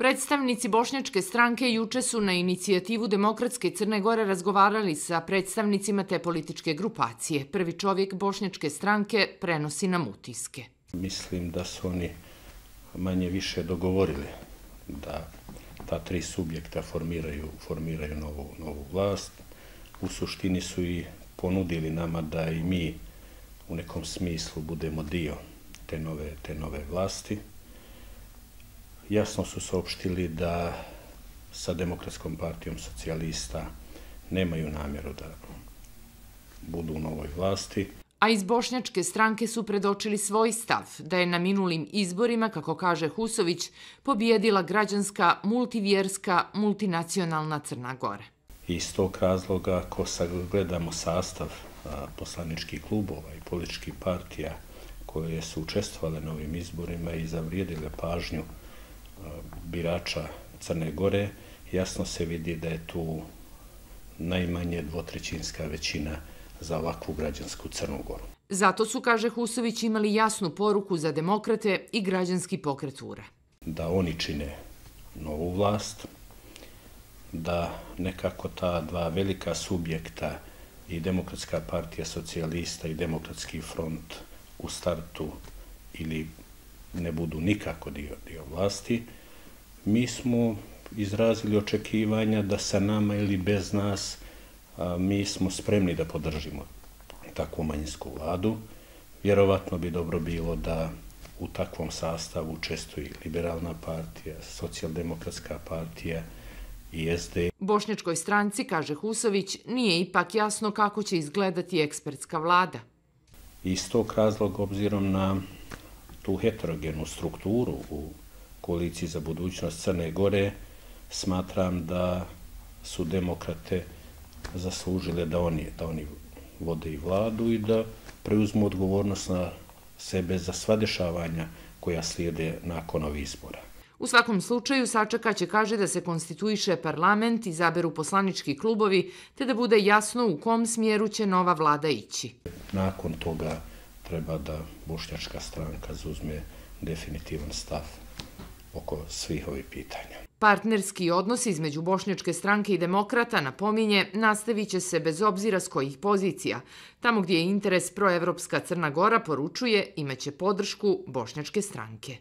Predstavnici Bošnjačke stranke juče su na inicijativu Demokratske Crne Gore razgovarali sa predstavnicima te političke grupacije. Prvi čovjek Bošnjačke stranke prenosi nam utiske. Mislim da su oni manje više dogovorili da ta tri subjekta formiraju novu vlast. U suštini su i ponudili nama da i mi u nekom smislu budemo dio te nove vlasti. Jasno su saopštili da sa Demokratskom partijom socijalista nemaju namjeru da budu u novoj vlasti. A iz Bošnjačke stranke su predočili svoj stav da je na minulim izborima, kako kaže Husović, pobijedila građanska, multivjerska, multinacionalna Crna Gora. Iz tog razloga, ako sagledamo sastav poslaničkih klubova i političkih partija koje su učestvovale na ovim izborima i zavrijedile pažnju birača Crne Gore, jasno se vidi da je tu najmanje dvotrećinska većina za ovakvu građansku Crnu Goru. Zato su, kaže Husović, imali jasnu poruku za demokrate i građanski pokret URA. Da oni čine novu vlast, da nekako ta dva velika subjekta i Demokratska partija socijalista i Demokratski front u startu ili ne budu nikako dio vlasti. Mi smo izrazili očekivanja da sa nama ili bez nas mi smo spremni da podržimo takvu manjinsku vladu. Vjerovatno bi dobro bilo da u takvom sastavu učestvuju Liberalna partija, Socijaldemokratska partija i SD. Bošnjačkoj stranci, kaže Husović, nije ipak jasno kako će izgledati ekspertska vlada. Iz tog razloga, obzirom na tu heterogenu strukturu u koaliciji za budućnost Crne Gore, smatram da su demokrate zaslužile da oni vode i vladu i da preuzmu odgovornost na sebe za sva dešavanja koja slijede nakon ovih izbora. U svakom slučaju sačekaće, kaže, da se konstituiše parlament, izaberu poslanički klubovi, te da bude jasno u kom smjeru će nova vlada ići. Nakon toga treba da Bošnjačka stranka zauzme definitivan stav oko svih ovih pitanja. Partnerski odnos između Bošnjačke stranke i demokrata, napominje, nastavit će se bez obzira s kojih pozicija. Tamo gdje je interes proevropska Crna Gora, poručuje, imaće podršku Bošnjačke stranke.